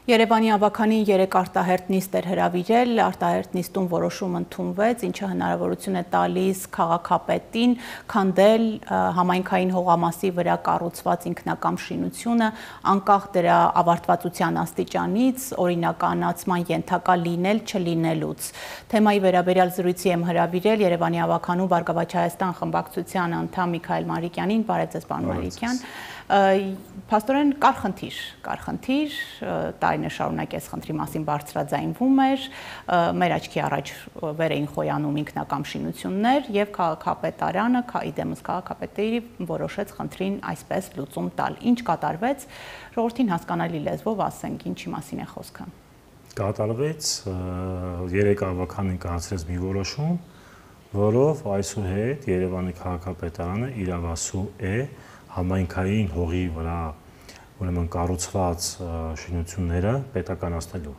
Երևանի ավագանին 3 արտահերտ նիստ էր հրավիրել, արտահերտ նիստում որոշում ընդունվեց, ինչը հնարավորություն է տալիս քաղաքապետին քանդել համայնքային հողամասի վրա կառուցված ինքնակամ շինությունը, անկախ դրա ավարտվածության աստիճանից, օրինականացման ենթակա լինել չլինելուց։ Թեմայի վերաբերյալ զրույցի եմ հրավիրել Երևանի ավագանու Բարգավաճ Հայաստան խմբակցության անդամ Միքայել Մանրիկյանին, բարև ձեզ պարոն Մանրիկյան։ Փաստորեն կար խնդիր, տարիներ շարունակ այս խնդրի մասին բարձրաձայնվում էր, մեր աչքի առաջ վեր էին խոյանում ինքնակամ շինություններ եւ քաղաքապետարանը, իդեմս քաղաքապետերի որոշեց խնդրին այսպես լուծում տալ։ Ինչ կատարվեց, ժողովրդին հասկանալի լեզվով ասենք, ինչի մասին է խոսքը։ Կատարվեց 3 ավագանին կայացրեց մի որոշում, որով այսուհետ Երևանի քաղաքապետարանը իրավասու է համայնքային հողի վրա ուրեմն կառուցված շինությունները պետականացնելու,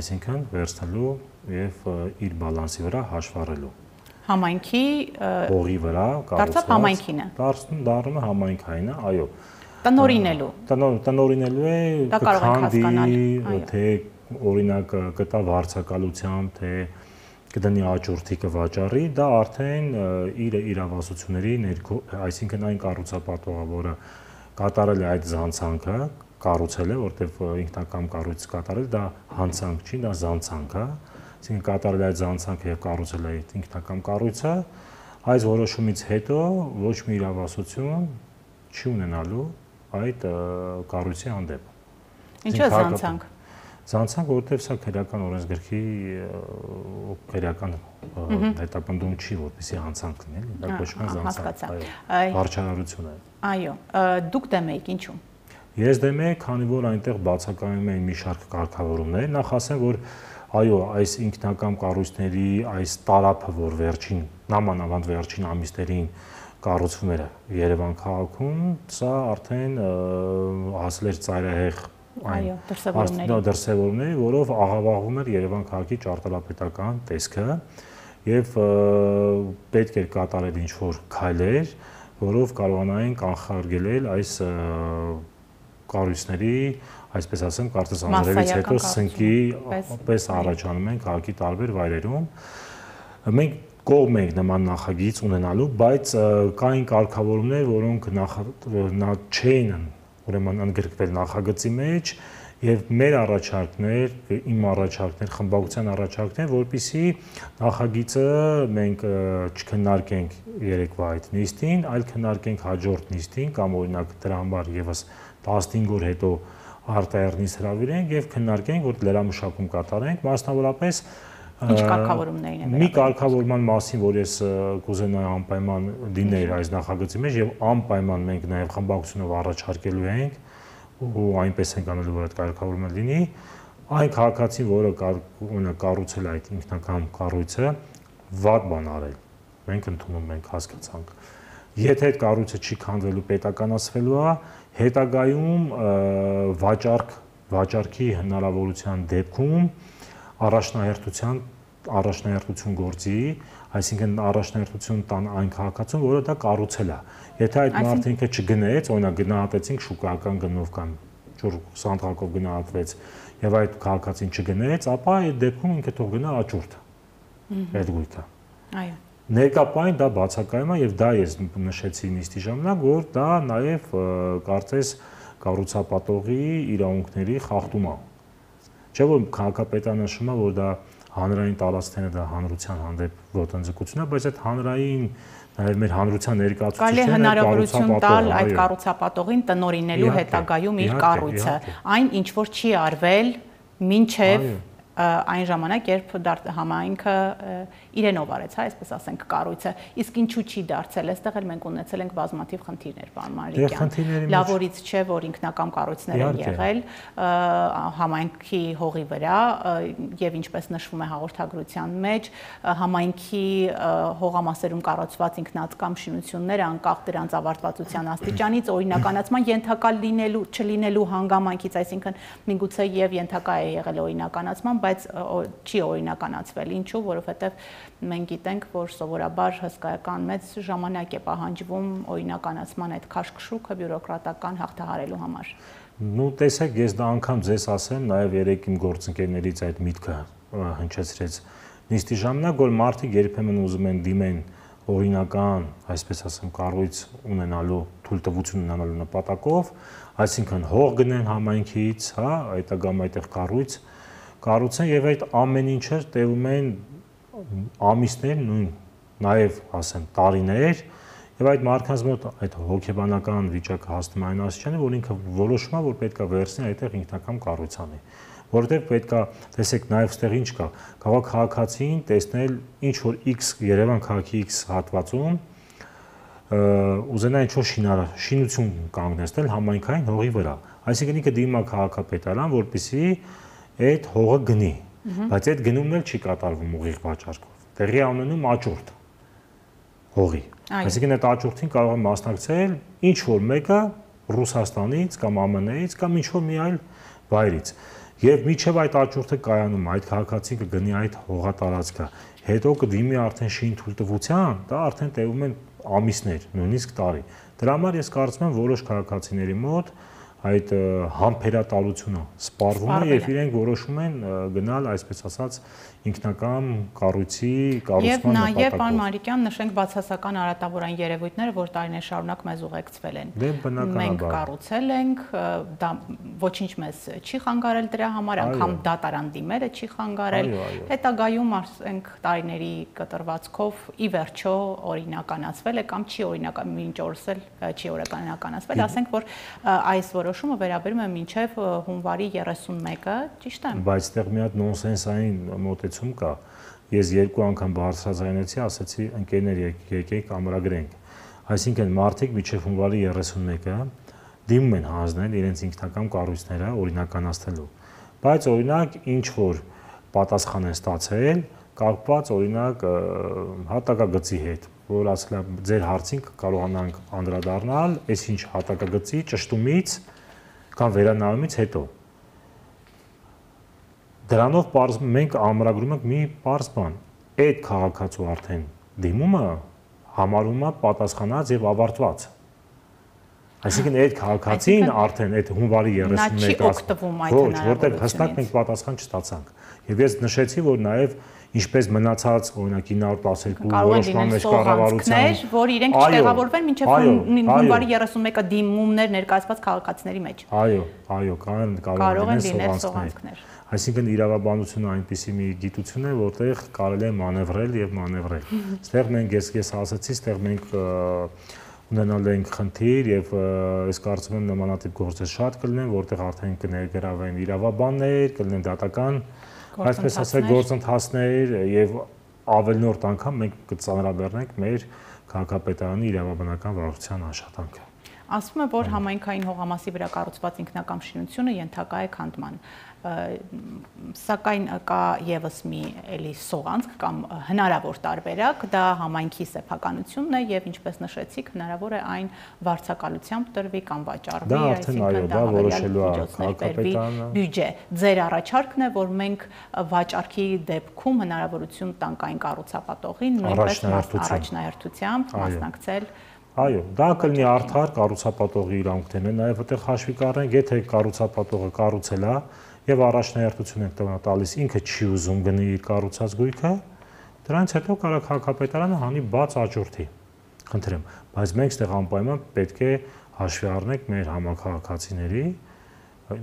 այսինքն վերցնելու եւ իր բալանսի վրա հաշվառելու։ Համայնքի հողի վրա կառուցված համայնքին է։ Դառնում է համայնքայինը, այո։ Տնօրինելու է քանդի, թե օրինակ կտա վարձակալությամբ, թե կդնի աճուրդի կվաճառի, դա արդեն իր իրավասությունների ներքո, այսինքն այն կառուցապատողը, որը կատարել է այդ զանցանքը, կառուցել է, որտեղ ինքնակամ կառույց կատարել, դա հանցանք չի, դա զանցանք է, այսինքն կատարել է այդ զանցանքը եւ կառուցել է այդ ինքնակամ կառույցը, այս որոշումից հետո ոչ մի իրավասություն չի ունենալու այդ կառույցի հանդեպ։ Ինչու է զանցանք։ Զանցանք, որովհետև սա քրեական օրենսգրքի քրեական հետապնդում չի, որպեսզի հանցանք լինի, դա կոչվում է զանցանք, վարչարարություն է։ Այո, դուք դեմ եք, ինչու։ Ես դեմ եմ, քանի որ այնտեղ բացակայում են մի շարք կարգավորումներ, նախ ասեմ, որ այո, այս ինքնակամ կառույցների այս տարափը, որ նամանավանդ վերջին ամիսներին կառուցվում էր Երևան քաղաքում, սա արդեն հասել էր ծայրահեղ դրսևորումների, որով աղավաղում էր Երևան քաղաքի ճարտարապետական տեսքը եւ պետք էր կատարել ինչ-որ քայլեր, որով կարողանային կանխարգելել այս կառույցների, այսպես ասեմ, կարծես անձրևից հետո սնկի պես առաջանում են քաղաքի տարբեր վայրերում։ Մենք կողմ ենք նման նախագիծ ունենալու, բայց կային կարգավորումներ, որոնք չէին ուրեմն ընդգրկվել նախագծի մեջ եւ մեր առաջարկներ, իմ առաջարկներ, խմբակցության առաջարկներ, որպեսզի նախագիծը մենք չքննարկենք երեկվա այդ նիստին, այլ քննարկենք հաջորդ նիստին կամ օրինակ դրա համար եւս 15 օր հետո արտահերտ նիստ հրավիրենք եւ քննարկենք, որ լրամշակում կատարենք, մասնավորապես Ինչ կարգավորումներին է մի կարգավորման մասին, որ ես կուզենայի անպայման լիներ այս նախագծի մեջ եւ անպայման մենք նաեւ խմբակցությունով առաջարկելու ենք ու այնպես ենք անելու, որ այդ կարգավորումը լինի, այն քաղաքացին, որը կառուցել այդ ինքնակամ կառույցը, վատ բան արել։ Մենք ընդունում ենք, հասկացանք։ Եթե այդ կառույցը չի քանդվելու, պետականացվելու է, հետագայում վաճառքի հնարավորության դեպքում առաջնահերթություն գործի, այսինքն առաջնահերթություն տան այն քաղաքացուն, որը դա կառուցել է։ Եթե այդ մարդը ինքը չգնեց, օրինակ գնահատեցինք շուկայական գնով կամ ջուր սանդղակով գնահատվեց եւ այդ քաղաքացին չգնեց, ապա այդ դեպքում ինքը թող գնա աճուրդ։ Այդ գույքը։ Այո։ Ներկապային դա բացակայում է եւ դա ես նշեցի նիստի ժամանակ, որ դա նաեւ կարծես կառուցապատողի իրավունքների խախտում է։ Չէ՞ որ քաղաքապետարանը նշում է, որ դա հանրային տարածքները դա հանրության հանդեպ ոտնձգություն է, բայց այդ հանրային նաև մեր հանրության ներկայացուցիչները կարելի է հնարավորություն տալ այդ կառուցապատողին տնօրինելու հետագայում իր կառույցը, այն ինչ որ չի արվել մինչև այն ժամանակ, երբ համայնքը իրենով արեց, այսպես ասենք, կառույցը, իսկ ինչու չի դարձել, այստեղ էլ մենք ունեցել ենք բազմաթիվ խնդիրներ, պարոն Մանրիկյան, լավորից չէ, որ ինքնակամ կառույցներ են եղել համայնքի հողի վրա եւ ինչպես նշվում է հաղորդագրության մեջ, համայնքի հողամասերում կառուցված ինքնակամ շինությունները անկախ դրանց ավարտվածության աստիճանից օրինականացման ենթակա լինելու չլինելու հանգամանքից, այսինքն միգուցե եւ ենթակա է եղել օրինականացման, բայց չի օրինականացվել, ինչու, որովհետեւ մենք գիտենք, որ սովորաբար հսկայական մեծ ժամանակ է պահանջվում օրինականացման այդ քաշքշուկը բյուրոկրատական հաղթահարելու համար։ Ну, տեսեք, ես դա անգամ ձեզ ասեմ, նաև երեք իմ գործընկերներից այդ միտքը հնչեցրեց նիստի ժամանակ, որ մարդիկ երբեմն ուզում են դիմեն օրինական, այսպես ասեմ, կառույց ունենալու, թույլտվություն ունենալու նպատակով, այսինքն հող գնեն համայնքից, հա, այդտեղ այդտեղ կառույց կառուցեն եւ այդ ամեն ինչը տևում են ամիսներ, նույն նաեւ ասեմ տարիներ եւ այդ մարդկանց մոտ այդ հոգեբանական վիճակը հասնում այն աստիճանի, որ ինքը որոշում է, որ պետքա վերցնի այդտեղ ինքնական կառույց անի, որովհետեւ պետքա, տեսեք, նաեւ ստեղ ինչ կա, կարող քաղաքացին տեսնել ինչ որ X Երևան քաղաքի X հատվածում ուզենա ինչ-որ շինություն կանգնեցնել համայնքային հողի վրա, այսինքն ինքը դիմա քաղաքապետարան, որպեսզի այդ հողը գնի, բայց այդ գնումն էլ չի կատարվում ուղիղ վաճառքով, տեղի է ունենում աճուրդ հողի, այսինքն այդ աճուրդին կարող է մասնակցել ինչ որ մեկը Ռուսաստանից կամ ԱՄՆ-ից կամ ինչ որ մի այլ վայրից, եւ միջև այդ աճուրդը կայանում, այդ քաղաքացին կգնի այդ հողատարածքը, հետո կդիմի արդեն շինթույլտվության, դա արդեն տևում են ամիսներ, նույնիսկ տարի։ Դրա համար ես կարծում եմ որոշ քաղաքացիների մոտ այդ համբերատարությունը սպառվում է եւ իրենք որոշում են գնալ, այսպես ասած, ինքնական կառույցի կառուցման նպատակով։ Եվ նաեւ պարոն Մարիկյան, նշենք բացասական արատավորային երևույթները, որ տարիներ շարունակ մեզ ուղեկցվել են։ Մենք կառուցել ենք, դա ոչինչ մեզ չի խանգարել դրա համար, անգամ դատարան դիմելը չի խանգարել։ Հետագայում ասենք տարիների կտրվածքով ի վերջո օրինականացվել է կամ չի օրինական մինչ օրս էլ չի օրինականացվել, ասենք որ այս որոշումը վերաբերում է մինչև հունվարի 31-ը, ճիշտ է։ Բայց այդտեղ մի հատ նոնսենսային մոտեցում կա։ Ես երկու անգամ բարձրաձայնեցի, ասացի ընկերներ եկեք ամրագրենք։ Այսինքն մարդիկ մինչև հունվարի 31-ը դիմում են հանձնել իրենց ինքնական կառույցները օրինականացնելու։ Բայց օրինակ ինչ որ պատասխան են ստացել, կապված օրինակ հատակագծի հետ, որ ասել է ձեր հարցին կարողանանք անդրադառնալ, այսինչ հատակագծի ճշտումից կամ վերանայումից հետո։ Դրանով մենք ամրագրում ենք մի պարզ բան, այդ քաղաքացու արդեն դիմումը համարվում է պատասխանած եւ ավարտված։ Այսինքն այդ քաղաքացին արդեն այդ հունվարի 31-ը ոչ, որտեղ հստակ մենք պատասխան չստացանք։ Եվ ես նշեցի, որ նաեւ ինչպես մնացած օրինակ 912 որոշման մեջ կառավարության, որ իրենք չտեղավորվեն մինչև հունվարի 31-ը դիմումներ ներկայացված քաղաքացիների մեջ։ Այո, կարող են լինել սողանքներ։ Այսինքն իրավաբանությունը այնպիսի մի գիտություն է, որտեղ կարելի է մանևրել եւ մանևրել։ Այստեղ մենք ես ասացի, այստեղ մենք ունենալ ենք խնդիր եւ ես կարծում եմ նմանատիպ գործեր շատ կլինեն, որտեղ արդեն կներգրավեն իրավաբաններ, կլինեն դատական, այսպես ասած գործընթացներ եւ ավելնորդ անգամ մենք կծանրաբեռնենք մեր քաղաքապետարանի իրավաբանական վարչության աշխատանքը։ Ասվում է, որ համայնքային հողամասի վրա կառուցված ինքնական շինությունը ենթակա է քանդման, սակայն կա եւս մի էլի սողանցք կամ հնարավոր տարբերակ, դա համայնքի սեփականությունն է եւ ինչպես նշեցիք, հնարավոր է այն վարձակալությամբ տրվի կամ վաճառվի, այսինքն դա որոշելու է քաղաքապետարանը բյուջե։ Ձեր առաջարկն է, որ մենք վաճառքի դեպքում հնարավորություն տանք այն կառուցապատողին նույնպես առաջնահերթությամբ մասնակցել։ Այո, դա կլինի արդար կառուցապատողի իրավունքներն են, նաև այդտեղ հաշվի կառնենք, եթե կառուցապատողը կառուցել է եւ առաջնահերթություն է տալիս, ինքը չի ուզում գնի իր կառուցած գույքը, դրանից հետո կարող քաղաքապետարանը հանի բաց աճուրդի։ Խնդրեմ, բայց մենք այդտեղ անպայման պետք է հաշվի առնենք մեր համակարգացիների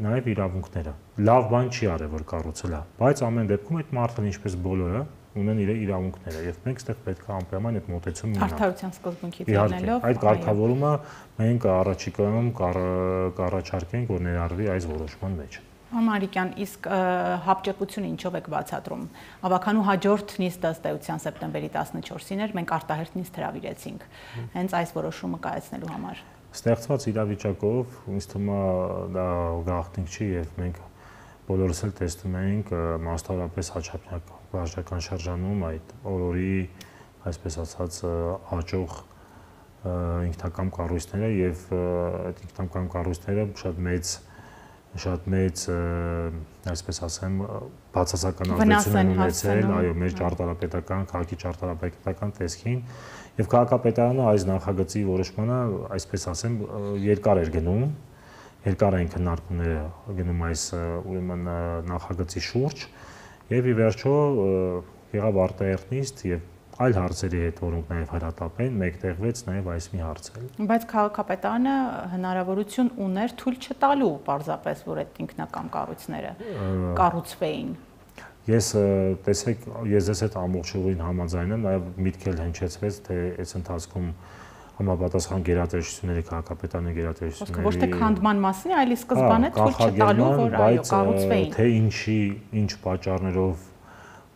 նաև իրավունքները։ Լավ բան չի արել, որ կառուցել է, բայց ամեն դեպքում այդ մարդը ինչպես բոլորը ունեն իր իրավունքները եւ մենք այդտեղ պետք է անպայման այդ մոտեցումը ունենանք։ Արդարության սկզբունքից ելնելով այդ կարգավորումը մենք առաջիկայում կառաջարկենք, որ ներառվի այս որոշման մեջ։ Մարիկյան, իսկ հապճեպությունը ինչով եք բացատրում։ Ավականու հաջորդ նիստը ըստ էության սեպտեմբերի 14-ին էր, մենք արտահերթ նիստ հրավիրեցինք հենց այս որոշումը կայացնելու համար։ Ստեղծված իրավիճակով ինձ թվում է դա գաղտնիք չի եւ մենք բոլորս էլ տեսնում ենք մասնավորապես հաճախնակ վարչական շրջանում այդ օրորի, այսպես ասած, աճող ինքնական կառույցները եւ այդ ինքնական կառույցները շատ մեծ շատ մեծ, այսպես ասեմ, բացասական ազդեցություն ունեցել, այո, մեր ճարտարապետական, քաղաքի ճարտարապետական տեսքին, եւ քաղաքապետարանը այս նախագծի որոշմանը, այսպես ասեմ, երկար էր գնում, երկար էին քննարկումները գնում այս ուրեմն նախագծի շուրջ, եւ ի վերջո եղավ արտահերթնիստ եւ այլ հարցերի հետ, որոնք նաև հրատապ են, մեկտեղվեց նաև այս մի հարցը։ Բայց քաղաքապետարանը հնարավորություն ուներ թույլ չտալու պարզապես, որ այդ ինքնակամ կառույցները կառուցվեին։ Ես տեսեք, ես ձեզ հետ ամբողջովին համաձայն եմ, նաև միտքել հնչեցվեց, թե այս ընթացքում համապատասխան գերատեսչությունների քաղաքապետարանի գերատեսչությունների ոչ թե քանդման մասին, այլ սկզբանե թույլ չտալու, որ այո, կառուցվեին։ Թե ինչ պատճառներով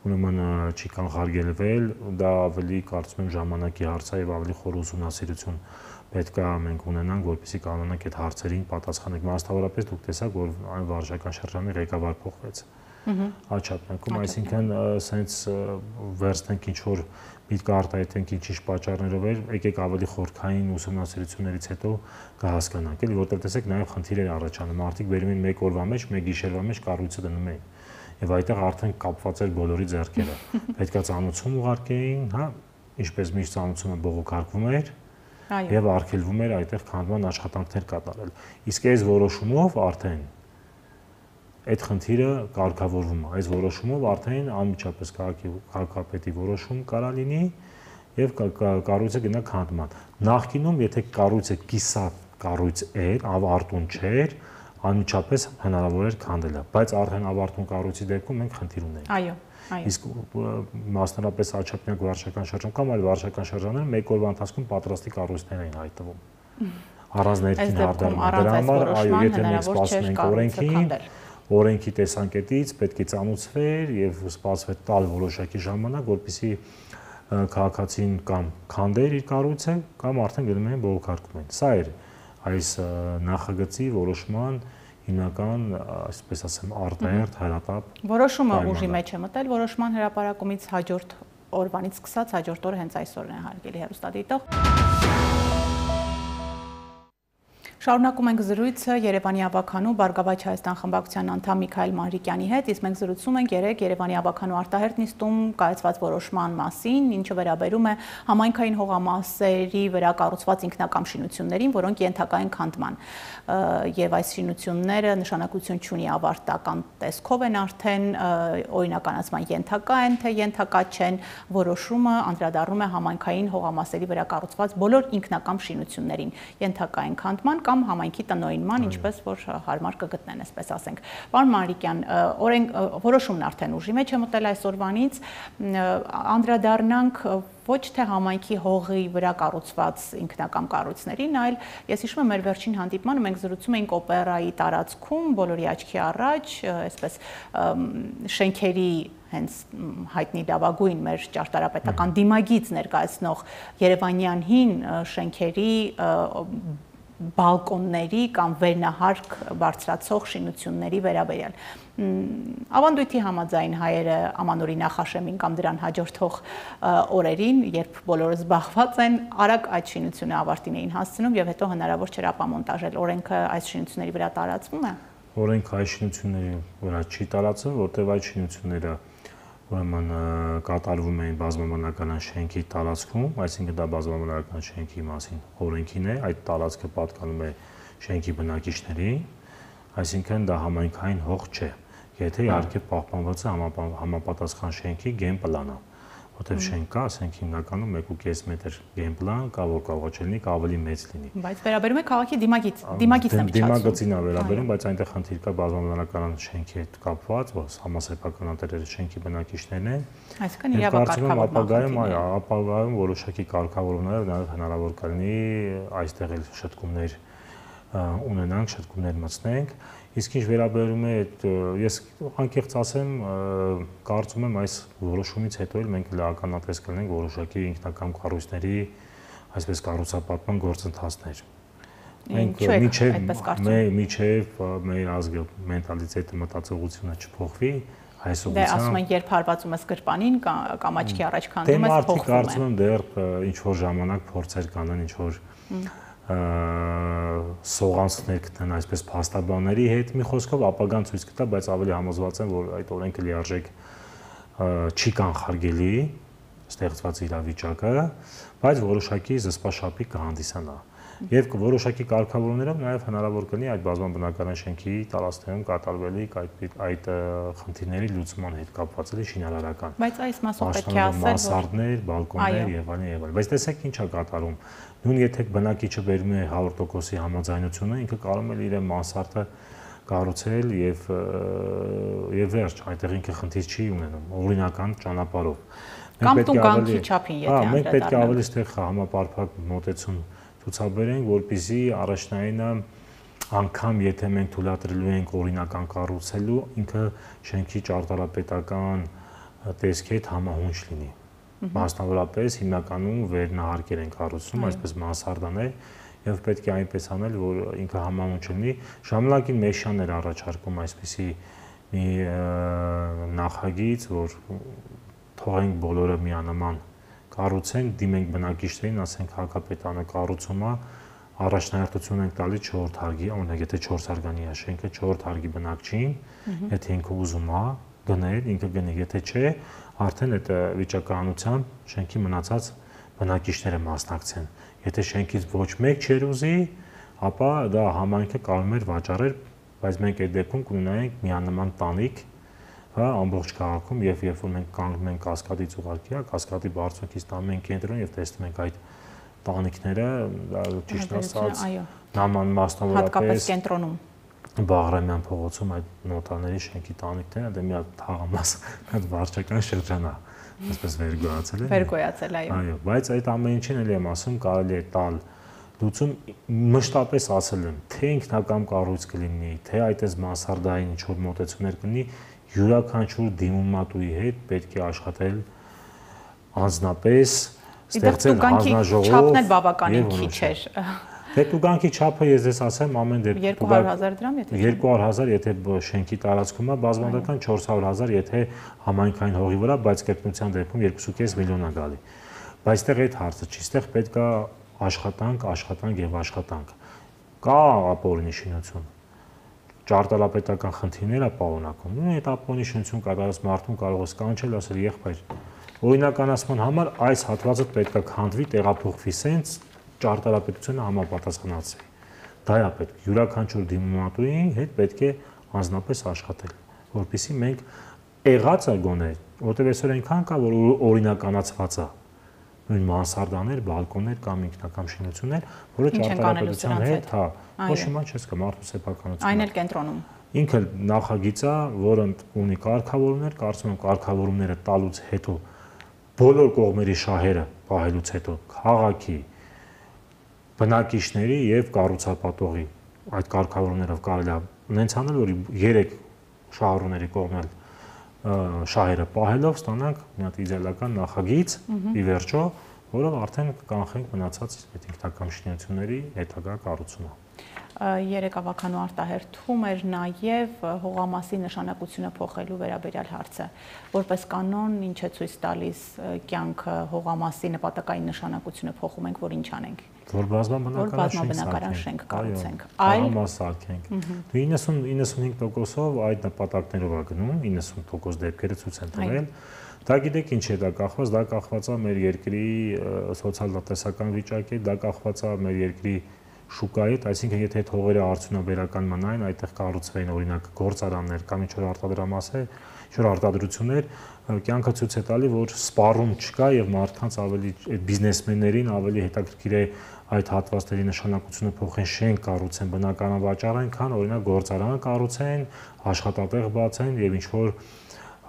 ուրեմն չի կանխարգելվել, դա ավելի կարծում եմ ժամանակի հարց է եւ ավելի խոր ուսումնասիրություն պետք է մենք ունենանք, որպեսզի կարողանանք այդ հարցերին պատասխանել։ Մասնավորապես դուք տեսաք, որ այն վարչական շրջանի ղեկավար փոխվեց։ Աչափնյակում, այսինքն սենց վերցնենք ինչ որ միտք արտահայտենք ինչ պատճառներով էր, եկեք ավելի խորքային ուսումնասիրություններից հետո կհասկանանք, էլի որտեղ տեսեք նաև խնդիրներ առաջանում, մարդիկ բերում են մեկ օրվա մեջ, մեկ գիշերվա մեջ կառույցը դնում էին։ Եվ այդտեղ արդեն կապված էր բոլորի ձեռքերը։ Պետքա ծանուցում ուղարկեին, հա, ինչպես միշտ ծանուցումը բողոքարկվում էր եւ արգելվում էր այդտեղ քանդման աշխատանքներ կատարել։ Իսկ այս որոշումով արդեն այդ խնդիրը կարգավորվում է։ Այս որոշումով արդեն անմիջապես քաղաքապետի որոշում կարա լինի եւ կառույցը գնա քանդման։ Նախկինում, եթե կառույցը կիսատ կառույց էր, ավարտուն չէր, անմիջապես հնարավոր էր քանդելը, բայց արդեն ավարտուն կառույցի դեպքում մենք խնդիր ունենք։ Այո, այո։ Իսկ մասնավորապես Աչափնյակ վարչական շրջան կամ այլ վարչական շրջաններ մեկ օրվա ընթացքում պատրաստի կառույցներ էին հայտնվում։ Առանց ներքին հարդարման։ Դրա համար, այո, եթե մենք սպասում ենք օրենքին, օրենքի տեսանկյունից պետք է ծանուցվեր եւ սպասվեր տալ որոշակի ժամանակ, որպեսզի քաղաքացին կամ քանդեր իր կառույցը կամ արդեն գնում են բողոքարկում են։ Սա էր այս նախագծի որոշման հիմնական, այսպես ասեմ, արտահերթ հրատապ։ Որոշումը ուժի մեջ է մտել, որոշման հրապարակումից հաջորդ օրվանից սկսած հաջորդ օրը հենց այսօրն է հարգելի հեռուստադիտող։ Շարունակում ենք զրույցը Երևանի ավականու Բարգավաճ Հայաստան խմբակցության անդամ Միքայել Մանրիկյանի հետ, իսկ մենք զրուցում ենք երեկ Երևանի ավականու արտահերթ նիստում կայացված որոշման մասին, ինչը վերաբերում է համայնքային հողամասերի վրա կառուցված ինքնակամ շինություններին, որոնք ենթակա են քանդման։ Եվ այս շինությունները նշանակություն չունի ավարտական տեսքով են արդեն, օրինականացման ենթակա են, թե ենթակա չեն, որոշումը անդրադառնում է համայնքային հողամասերի վրա կառուցված բոլոր ինքնակամ շինություններին, ենթակա են քանդման կամ համայնքի տնօրինման, ինչպես որ հարմար կգտնեն, այսպես ասենք։ Պարոն Մանրիկյան, որոշումն արդեն ուժի մեջ է մտել այսօրվանից, անդրադառնանք ոչ թե համայնքի հողի վրա կառուցված ինքնակամ կառույցներին, այլ ես հիշում եմ մեր վերջին հանդիպմանը մենք զրուցում էինք օպերայի տարածքում, բոլորի աչքի առաջ, այսպես շենքերի հենց հայտնի լավագույն մեր ճարտարապետական դիմագիծ ներկայացնող երևանյան հին շենքերի բալկոնների կամ վերնահարկ բարձրացող շինությունների վերաբերյալ։ Ավանդույթի համաձայն հայերը ամանորի նախաշեմին կամ դրան հաջորդող օրերին, երբ բոլորը զբաղված են, արագ այդ շինությունը ավարտին էին հասցնում եւ հետո հնարավոր չէր ապամոնտաժել։ Օրենքը այս շինությունների վրա տարածվում է։ Օրենքը այս շինությունների վրա չի տարածվում, որտեղ այդ շինությունները ուրեմն կատարվում էին բազմաբանական շենքի տարածքում, այսինքն դա բազմաբանական շենքի մասին օրենքին է, այդ տարածքը պատկանում է շենքի բնակիչներին, այսինքն դա համայնքային հող չէ, եթե իհարկե պահպանված է համապատասխան շենքի գենպլանը, որտեղ շենք կա, ասենք հիմնականում 1.5 մետր գենպլան կա, որ կարող է լինի ավելի մեծ լինի։ Բայց վերաբերում է քաղաքի դիմագիծն է դիմագծին է վերաբերում, բայց այնտեղ խնդիր կա բազմաբանական շենքի հետ կապված, որ համասեփականատերերը շենքի բնակիչներն են։ Այսինքն իրավակարգավորում ապագայում որոշակի կարգավորումներ նաև հնարավոր կլինի այստեղ էլ շտկումներ ունենանք, շտկումներ մտցնենք, իսկ ինչ վերաբերում է ես անկեղծ ասեմ, կարծում եմ այս որոշումից հետո էլ մենք լիականատես կլինենք որոշակի ինքնակամ կառույցների, այսպես կառուցապատման գործընթացներ։ Մենք միջև մեր ազգը մենտալիտետը մտածողությունը չփոխվի, այս ուղղությամբ։ Դե ասում են, երբ հարվածում ես գրպանին կամ աչքի առաջ քանդում ես, փոխվում է։ Կարծում եմ դեռ ինչ որ ժամանակ փորձեր կանեն, ինչ որ սողանցքներ գտնեն այսպես փաստաբանների հետ, մի խոսքով ապագան ցույց կտա, բայց ավելի համոզված եմ, որ այդ օրենքը լիարժեք չի կանխարգելի ստեղծված իրավիճակը, բայց որոշակի զսպաշապիկ կհանդիսանա։ Եվ որոշակի կարգավորումներով նաև հնարավոր կլինի այդ բազմաբնակարան շենքի տարածքներում կատարվելիք այդ խնդիրների լուծման հետ կապված շինարարական։ Բայց այս մասով պետք է ասել, որ մասարդներ, բալկոններ եւ այլն եւ այլն։ Բայց տեսեք ինչ է կատարում։ Նույն եթե բնակիչը բերում է 100%-ի համաձայնությունը, ինքը կարող է իր մասարդը կառուցել եւ վերջ, այդտեղ ինքը խնդիր չի ունենում օրինական ճանապարհով։ Կամ տուգանքի չափին, եթե անդրադառնանք։ Մենք պետք է ավելի ստեղ համապարփակ մոտեցում ցուցաբերենք, որպեսզի առաջնայինը անգամ եթե մենք թույլատրելու ենք օրինական կառուցելու, ինքը շենքի ճարտարապետական տեսքի հետ համահունչ լինի։ Մասնավորապես հիմնականում վերնահարկեր են կառուցում, այսպես մանսարդաներ, եւ պետք է այնպես անել, որ ինքը համահունչ լինի։ Ժամանակին Մեշյանն էր առաջարկում այսպիսի մի նախագիծ, որ թողենք բոլորը միանման կառուցենք, դիմենք բնակիչներին, ասենք հակապետանը կառուցում է, առաջնահերթություն ենք տալիս 4 հարգի, օրինակ եթե 4 հարգանի է շենքը 4 հարգի բնակչին, եթե ինքը ուզում է գնել, ինքը գնի, եթե չէ, արդեն այդ վիճակահանությամբ շենքի մնացած բնակիչները մասնակցեն։ Եթե շենքից ոչ մեկ չեր ուզի, ապա դա համայնքը կարող էր վաճառել, բայց մենք այդ դեպքում կունենայինք միանման տանիք, հա, ամբողջ քաղաքում եւ երբ որ մենք կանգնում ենք Կասկադից ուղարկի, Կասկադի բարձունքից տանում ենք կենտրոն եւ տեսնում ենք այդ տանիքները, դա ճիշտ ասած, նաման մասնավորապես հատկապես կենտրոնում Բաղրամյան փողոցում այդ նոտարների շենքի տանիքները, դա մի հատ թաղամաս, հատ վարչական շրջան է, այսպես վերգոյացել է։ Վերգոյացել, այո։ Այո, բայց այդ ամեն ինչին էլ եմ ասում, կարելի է տալ լուծում մշտապես ասել եմ, թե ինքնակամ կառույց կլինի, թե այդպես մանսարդային ինչ-որ մոտեցումներ կլինի, յուրաքանչյուր դիմումատուի հետ պետք է աշխատել անձնապես, ստեղծել հանձնաժողով։ Չափն էլ բավականին քիչ էր։ Դե տուգանքի չափը ես ես ասեմ ամեն դեպքում 200,000 դրամ, եթե 200,000 եթե շենքի տարածքում է, բազմադական 400,000 եթե համայնքային հողի վրա, բայց կրկնության դեպքում 2.5 միլիոն է գալի։ Բայց այդտեղ այդ հարցը չի, այդտեղ պետք է աշխատանք եւ աշխատանք։ Կա ապօրինի շինություն։ Ճարտարապետական խնդիրներ է պարունակում։ Նույն այդ ապօրինի շինություն կատարած մարդուն կարող է սկանչել, ասել եղբայր, օրինականացման համար այս հատվածը պետք է քանդվի, տեղափոխվի սենց ճարտարապետությունը համապատասխանացի։ Դա է պետք։ Յուրաքանչյուր դիմումատուի հետ պետք է անձնապես աշխատել, որպեսզի մենք եղածը գոնե, որտեղ այսօր այնքան կա, որ օրինականացված է։ Նույն մանսարդաներ, բալկոններ կամ ինքնակամ շինություններ, որը ճարտարապետության հետ, հա, ոչ հիմա չես կա մարդու սեփականություն։ Այն էլ կենտրոնում։ Ինքը նախագիծ է, որը ունի կարգավորումներ, կարծում եմ կարգավորումները տալուց հետո բոլոր կողմերի շահերը պահելուց հետո քաղաքի բնակիչների եւ կառուցապատողի այդ կարգավորումներով կարելի է նենց անել, որ 3 շահառուների կողմել շահերը պահելով ստանանք մի հատ իդեալական նախագիծ ի վերջո, որով արդեն կանխենք մնացած այդ ինքնակամ շինությունների հետագա կառուցումը։ Երեկավականու արտահերթում էր նաև հողամասի նշանակությունը փոխելու վերաբերյալ հարցը։ Որպես կանոն, ինչ է ցույց տալիս կյանքը հողամասի նպատակային նշանակությունը փոխում ենք, որ ինչ անենք։ Որ բազմաբնակարան շենք կառուցենք։ Այլ մասարկենք։ 90-95%-ով այդ նպատակներով է գնում, 90% դեպքերը ցույց են տվել։ Դա գիտեք ինչ է դա կախված, դա կախված է մեր երկրի սոցիալ-տնտեսական վիճակի, դա կախված է մեր երկրի շուկայի, այսինքն եթե այդ հողերը արդյունաբերական մնային, այդտեղ կառուցվեին օրինակ գործարաններ կամ ինչ-որ արտադրամասեր, ինչ-որ արտադրություններ, կյանքը ցույց է տալի, որ սպառում չկա եւ մարդկանց ավելի այդ բիզնեսմեններին ավելի հետաքրքիր է այդ հատվածների նշանակությունը փոխեն, շենք կառուցեն, բնակարան վաճառեն, քան օրինակ գործարան կառուցեն, աշխատատեղ բացեն եւ ինչ-որ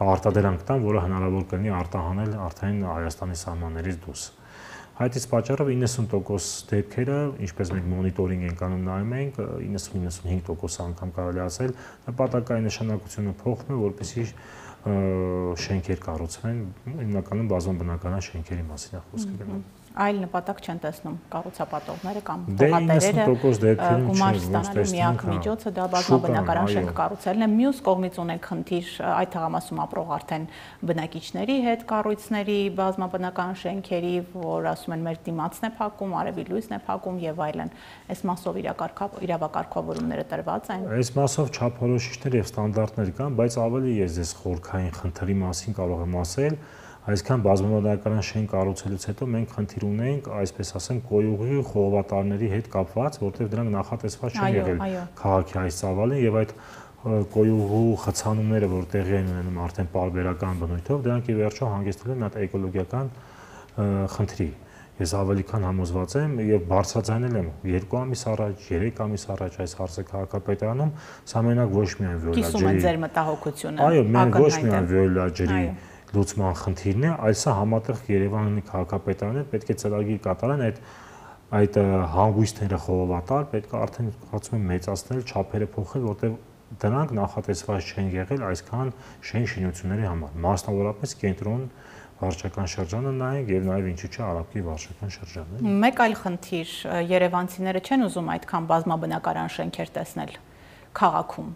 արտադրանք տան, որը հնարավոր կլինի արտահանել արդեն Հայաստանի սահմաններից դուրս։ Այդ իսկ պատճառով 90% դեպքերը, ինչպես մենք մոնիտորինգ ենք անում նայում ենք, 90-95% անգամ կարելի ասել, նպատակային նշանակությունը փոխվում է, որպեսզի շենքեր կառուցվեն, հիմնականում բազմաբնակարան շենքերի մասին է խոսքը գնում։ Այլ նպատակ չեն տեսնում կառուցապատողները կամ հողատերերը գումար ստանալու միակ միջոցը դա բազմաբնակարան շենք կառուցելն է։ Մյուս կողմից ունենք խնդիր այդ թաղամասում ապրող արդեն բնակիչների հետ կառույցների, բազմաբնակարան շենքերի, որ ասում են մեր դիմացն է փակում, արևի լույսն է փակում եւ այլն։ Այս մասով իրավակարգավորումները տրված են։ Այս մասով չափորոշիչներ եւ ստանդարտներ կան, բայց ավելի ես այս խորքային խնդրի մասին կարող եմ ասել։ Այսքան բազմաբնակարան շենք կառուցելուց հետո մենք խնդիր ունենք, այսպես ասեմ, կոյուղի խողովատարների հետ կապված, որտեղ դրանք նախատեսված չեն եղել քաղաքի այս ծավալին եւ այդ կոյուղու խցանումները, որ տեղի են ունենում արդեն պարբերական բնույթով, դրանք ի վերջո հանգեցնում են այդ էկոլոգիական խնդրի։ Ես ավելի քան համոզված եմ եւ բարձրաձայնել եմ 2 ամիս առաջ, 3 ամիս առաջ այս հարցը քաղաքապետարանում, սա մենակ ոչ միայն վիոլա ջրի։ Կիսում են ձեր մտահոգությունը։ Այո, մենք ոչ միայն վիոլա ջրի լուծման խնդիրն է, այլ սա համատեղ Երևանի քաղաքապետարանը պետք է ծրագիր կատարեն այդ հանգույցները խողովատար, պետք է արդեն կարծում եմ մեծացնել, չափերը փոխել, որտեղ դրանք նախատեսված չեն եղել այսքան շինությունների համար, մասնավորապես կենտրոն վարչական շրջանը նայենք եւ նաեւ ինչու՞ չէ Արաբկի վարչական շրջանը։ Մեկ այլ խնդիր, երևանցիները չեն ուզում այդքան բազմաբնակարան շենքեր տեսնել քաղաքում։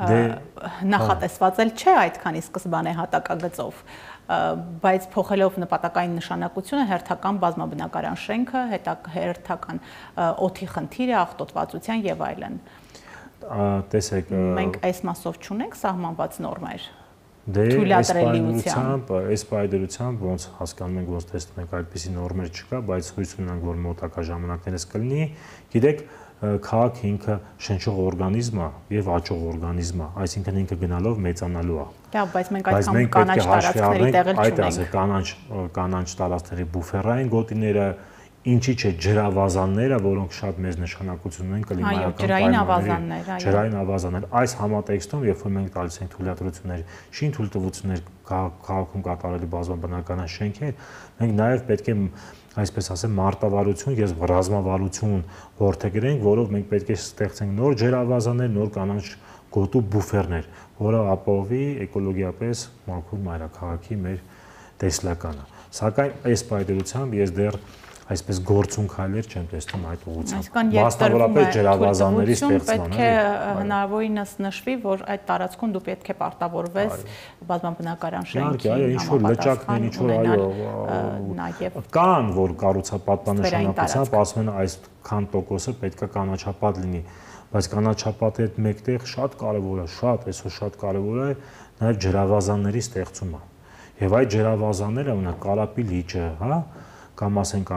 Նախատեսված էլ չէ այդքանի սկզբանե հատակագծով, բայց փոխելով նպատակային նշանակությունը հերթական բազմաբնակարան շենքը, հերթական օդի խնդիրը, աղտոտվածության եւ այլն։ Տեսեք, մենք այս մասով չունենք սահմանված նորմեր։ Այս պայմանությամբ ոնց հասկանում ենք, ոնց տեսնում ենք, այդպիսի նորմեր չկա, բայց հույս ունենք, որ մոտակա ժամանակներս կլինի։ Գիտեք, քաղաքը ինքը շնչող օրգանիզմ է եւ աճող օրգանիզմ է, այսինքն ինքը գնալով մեծանալու է։ Լավ, բայց մենք այդքան կանաչ տարածքների տեղել չունենք։ Կանաչ տարածքների բուֆերային գոտիները, ինչի՞ չէ ջրավազանները, որոնք շատ մեծ նշանակություն ունեն կլիմայական պայմանների։ Ջրային ավազաններ։ Այս համատեքստում, երբ որ մենք տալիս ենք թույլատրություններ, շին թույլտվություններ քաղաքում կատարելու բազմաբնակարան շենքեր, մենք նաեւ պետք է այսպես ասեմ մարտավարություն եւ ռազմավարություն որդեգրենք, որով մենք պետք է ստեղծենք նոր ջրավազաններ, նոր կանաչ գոտու բուֆերներ, որը ապահովի էկոլոգիապես մաքուր մայրաքաղաքի մեր տեսլականը։ Սակայն այս պայմանությամբ ես դեռ այսպես գործուն քայլեր չեմ տեսնում այդ ուղղությամբ։ Մասնավորապես ջրավազանների ստեղծման։ Պետք է հնարավորինս նշվի, որ այդ տարածքում դու պետք է պարտավորվես բազմաբնակարան շենքի կան, որ կառուցապատման նշանակությամբ ասում են այսքան տոկոսը պետք է կանաչապատ լինի, բայց կանաչապատի հետ մեկտեղ շատ կարևոր է, այսօր շատ կարևոր է նաև ջրավազանների ստեղծումը։ Եվ այդ ջրավազանները ունեն Կարապի լիճը, հա, կամ ասենք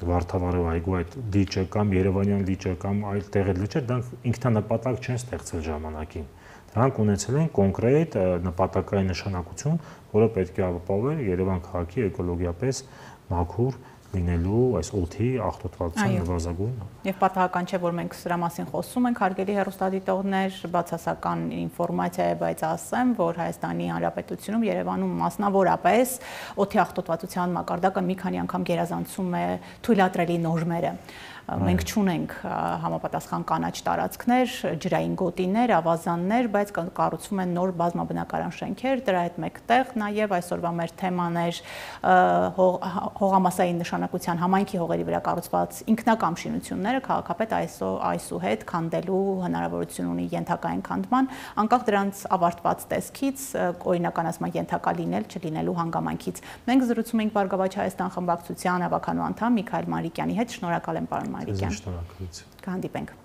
Վարդավառով այգու այդ լիճը կամ Երևանյան լիճը կամ այլ տեղեր լիճը, դրանք ինքնանպատակ չեն ստեղծել ժամանակին։ Դրանք ունեցել են կոնկրետ նպատակային նշանակություն, որը պետք է ապահովել Երևան քաղաքի էկոլոգիապես մաքուր լինելու այս օդի աղտոտվածության նվազագույն։ Եվ պատահական չէ, որ մենք սրա մասին խոսում ենք, հարգելի հեռուստադիտողներ, բացասական ինֆորմացիա է, բայց ասեմ, որ Հայաստանի Հանրապետությունում Երևանում մասնավորապես օդի աղտոտվածության մակարդակը մի քանի անգամ գերազանցում է թույլատրելի նորմերը։ Մենք չունենք համապատասխան կանաչ տարածքներ, ջրային գոտիներ, ավազաններ, բայց կառուցվում են նոր բազմաբնակարան շենքեր, դրա հետ մեկտեղ նաև այսօրվա մեր թեման էր հողամասային նշանակության համայնքի հողերի վրա կառուցված ինքնակամ շինությունները, քաղաքապետ այսուհետ քանդելու հնարավորություն ունի ենթակային քանդման, անկախ դրանց ավարտված տեսքից, օրինականացման ենթակա լինել, չլինելու հանգամանքից։ Մենք զրուցում ենք Բարգավաճ Հայաստան խմբակցության ավականու անդամ Միքայել Մանրիկյանի հետ, շնորհակալ եմ պարոն Մանրիկյան։ Շնորհակալություն։ Կհանդիպենք։